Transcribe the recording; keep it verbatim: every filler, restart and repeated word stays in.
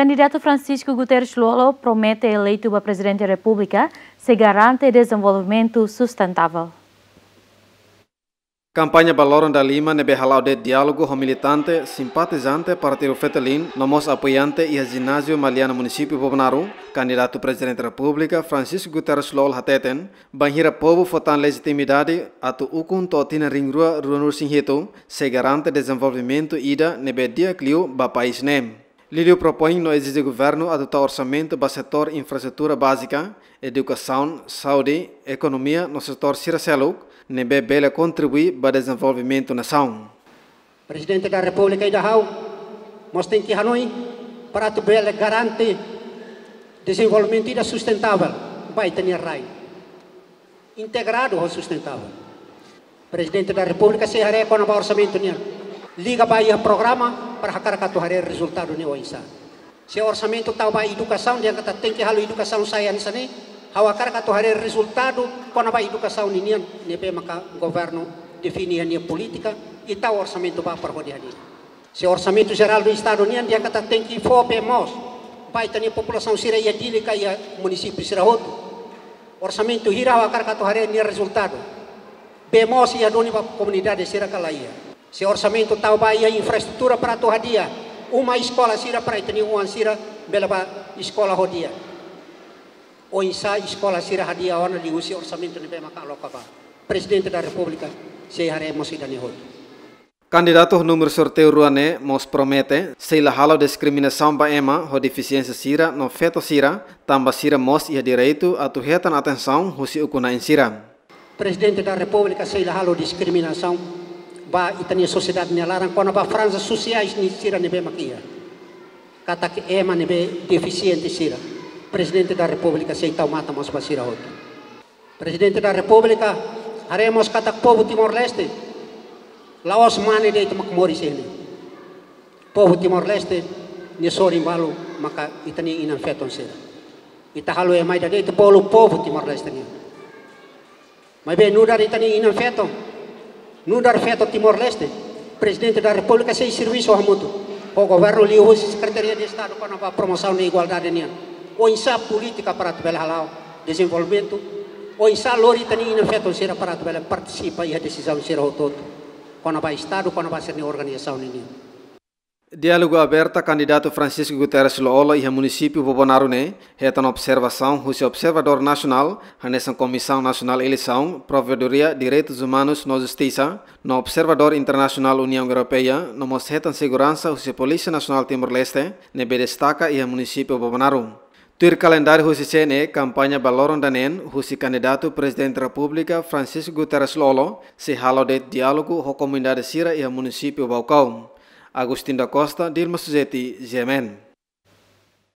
Kandidatu Francisco Guterres Lú-Olo promete eleitu ba Prezidente Repúblika sei garante dezenvolvimentu sustentável. Kampaña ba loron dala lima ne'ebé hala'o de'it diálogu ho militante, simpatizante partidu Fretilin, no mós apoiante iha jináziu Maliana, munisípiu Bobonaro, kandidatu Prezidente Repúblika Francisco Guterres Lú-Olo hateten, bainhira povu fó tan lejitimidade atu ukun to'o tinan rihun rua ruanulu-resin-hitu, sei garante dezenvolvimentu ida ne'ebé di'ak liu ba país ne'e. Liuliu propoin no ezije governu atu tau orsamentu ba setór infraestrutura bázika, edukasaun, saúde, ekonomia no setór sira seluk ne'ebé bele kontribui ba dezenvolvimentu nasaun. Prezidente da Repúblika ida ha'u mós tenke hanoin para atu bele garante dezenvolvimentu ida sustentável ba ita-nia rai, integradu ho sustentável. Prezidente da Repúblika sei haree kona-ba orsamentu nian, liga ba iha programa para hakarak atu haree rezultadu ne'e oinsá. Se orsamentu tau ba edukasaun, dehan katak tenke halo edukasaun sai hanesan ne'e, ha'u hakarak atu haree rezultadu kona-ba edukasaun ninian, ne'ebé maka governu define iha nia polítika, i tau orsamentu ba para hodi hadi'a. Se orsamentu jerál do Estadu nian, dehan katak tenke fó bee moos ba ita-nia populasaun sira iha Dili ka iha munisípiu sira hotu. Orsamentu hira ha'u hakarak atu haree nia rezultadu. Bee moos iha duni ba komunidade sira ka la iha. Se orsamentu tau ba iha infraestrutura para atu hadi'a uma eskola sira para ita-nia oan sira bele ba eskola ho di'ak. Oinsá eskola sira hadi'a ona liuhusi orsamentu ne'ebé maka aloka ba. Prezidente da Repúblika sei haree mós ida-ne'e hotu. Kandidatu númeru sorteiu rua ne'e mós promete sei la halo diskriminasaun ba ema ho defisiénsia sira no feto sira, tanba sira mós iha direitu atu hetan atensaun husi ukun-na'in sira. Prezidente da Repúblika sei la halo diskriminasaun ba ita-nia sosiedade nia laran kona-ba franjas sosiais sira ne'ebé mak iha. Katak ema ne'ebé defisiente sira, Prezidente da Repúblika sei tau matan mós ba sira hotu. Prezidente da Repúblika haree mós katak povu Timor-Leste la'ós mane de'it mak moris iha ne'e. Povu Timor-Leste nia sorin balu maka ita-nia inan-feton sira. Ita halo ema ida de'it bolu povu Timor-Leste nian. Maibé nu'udar ita-nia inan-feton, nu'udar feto Timor-Leste, Prezidente da Repúblika sei servisu hamutuk ho governu liuhusi Sekretaria de Estadu kona-ba Promosaun da Igualdade nian. Oinsá polítika para atu bele hala'o dezenvolvimentu, oinsá lori ita-nia inan-feton sira para atu bele partisipa iha desizaun sira hotu-hotu kona-ba Estadu, kona-ba sira-nia organizasaun ninian. Diálogu aberta kandidatu Francisco Guterres Lú-Olo iha munisípiu Bobonaro ne'e hetan observasaun husi observadór nasionál, hanesan Komisaun Nasionál Eleisaun, Provedoria Direitus Umanus no Justisa, no observadór internasionál Uniaun Europeia, no mós hetan seguransa husi Polísia Nasionál Timor-Leste, ne'ebé destaka iha munisípiu Bobonaro. Tuir kalendáriu husi C N E, kampaña ba loron ida-ne'e husi kandidatu Prezidente Repúblika Francisco Guterres Lú-Olo sei halo de'it diálogu ho komunidade sira iha munisípiu Baucau. Agostinho da Costa, Dilma Suzeti, G M N.